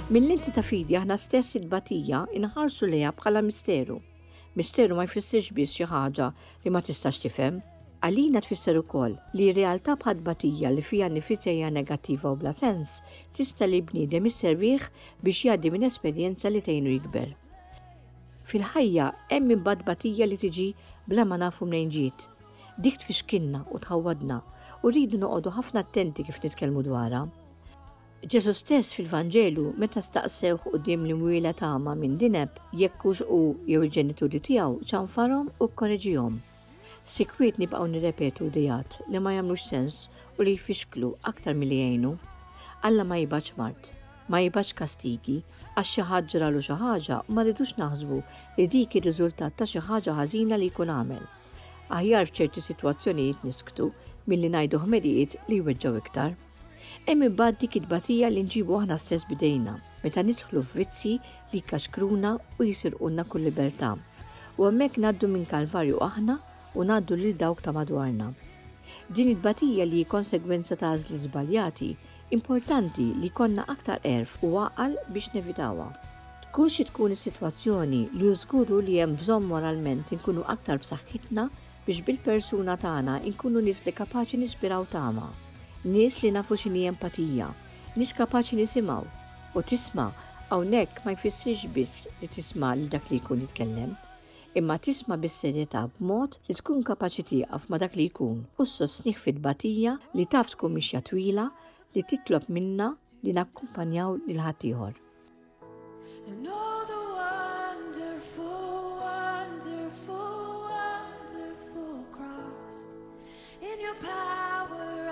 Mill-lenti ta' fidi aħna stess it-tbatija inħarsu lejha bħala misteru. Misteru ma jfissirx biss xi ħaġa li ma tistax tifhem. Għalina tfisser ukoll li realtà bħat tbatija li fiha nnifisha hija negattiva u bla sens, tista' li bniedem isservih biex jgħaddi minn esperjenza li tgħinu jikber. Fil-ħajja hemm imbagħad tbatija li tiġi bla ma nafu mnejn ġiet. Dik tfixkilna u tħawwadna u rridu noqogħdu ħafna attenti kif nitkellmu dwarha. Ġesù stess fil-Vanġelu meta staqsewh quddiem l-imwieled agħma min dineb, jekk hux hu jew il-ġenituri tiegħu, ċanfarhom u kkoreġihom. Sikwit nibqgħu nirrepetu ideat li ma jagħmlux sens u li jfixklu aktar milli jgħinu. Alla ma jibgħatx mard, ma jibgħatx kastigi, għax xi ħadd ġralu xi ħaġa ma rridux naħsbu li dik hi riżultat ta' xi ħaġa ħażina li jkun għamel. Aħjar f'ċerti sitwazzjonijiet nisktu milli ngħidu ħmerijiet li jweġġgħu iktar. Hemm imbagħad dik it-tbatija li nġibu aħna stess b'idejna, meta nidħlu f'vizzji li jkaxkruna u jisirqulna kull libertà. U hemmhekk ngħaddu minn kalvarju aħna u ngħaddu lil dawk ta' madwarna. Din it-tbatija li hi konsegwenza ta' għażliet żbaljati, importanti li jkollna aktar għerf u għaqal biex nevitawha. Tkun xi tkun is-sitwazzjoni, li hu żgur hu li hemm bżonn moralment inkunu aktar b'saħħitna biex bil-persuna tagħna nkunu nies li kapaċi nispiraw tama, nies li nafu x'inhi empatija, nies kapaċi nisimgħu. U tisma' hawnhekk ma jfissirx biss li tisma' lil dak li jkun jitkellem, imma tisma' bis-serjetà b'mod li tkun kapaċi tieqaf ma' dak li jkun u ssostnih fit-tbatija li taf tkun mixja twila li titlob minna li nakkumpanjaw lil ħaddieħor. And all the wonderful, wonderful, wonderful cross in your power.